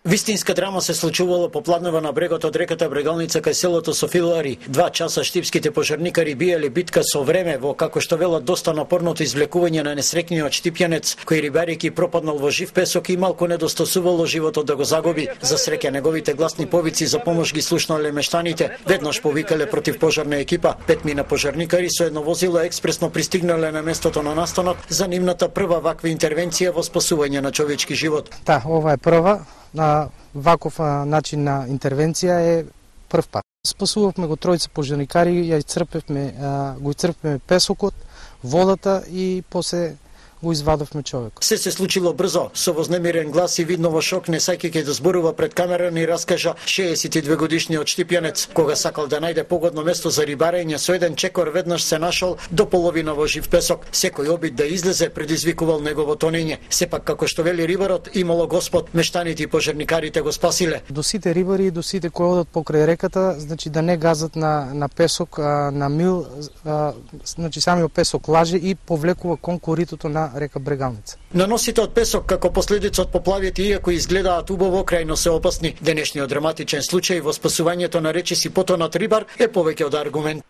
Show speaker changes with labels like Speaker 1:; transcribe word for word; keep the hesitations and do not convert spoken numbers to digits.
Speaker 1: Вистинска драма се случувало попладнева на брегот од реката Брегалница кај селото Софилари. Два часа штипските пожарникари биеле битка со време во, како што велат, доста напорното извлекување на несрекниот штипјанец, кој рибарејќи пропаднал во жив песок и малку недостасувало животот да го загуби. За среќа неговите гласни повици за помош ги слушнале мештаните. Веднаш повикале против пожарна екипа. Петмина пожарникари со едно возило експресно пристигнале на местото на настанот за нивната прва ваква интервенција во спасување на човечки живот.
Speaker 2: Да, ова е прва. На ваков начин на интервенција е прв пат. Спасувавме го тројца пожарникари, ја исцрпевме, го исцрпевме песокот, водата и после го извадовме човекот.
Speaker 1: Се се случило брзо, со вознемирен глас и видно во шок, не саќајќи да зборува пред камера, ни раскажа шеесет и две годишниот штипјанец, кога сакал да најде погодно место за рибарење со еден чекор, веднаш се нашол до половина во жив песок. Секој обид да излезе предизвикувал негово тонење. Сепак, како што вели рибарот, имало Господ, мештаните и пожарникарите го спасиле.
Speaker 2: До сите рибари, до сите кои одат покрај реката, значи да не газат на на песок, а, на мил, а, значи самиот песок лаже и повлекува кон коритото на река Брегалница.
Speaker 1: Наносите од песок како последица од поплавите, иако изгледаат убаво, крајно се опасни. Денешниот драматичен случај во спасувањето на речиси потонат рибар е повеќе од аргумент.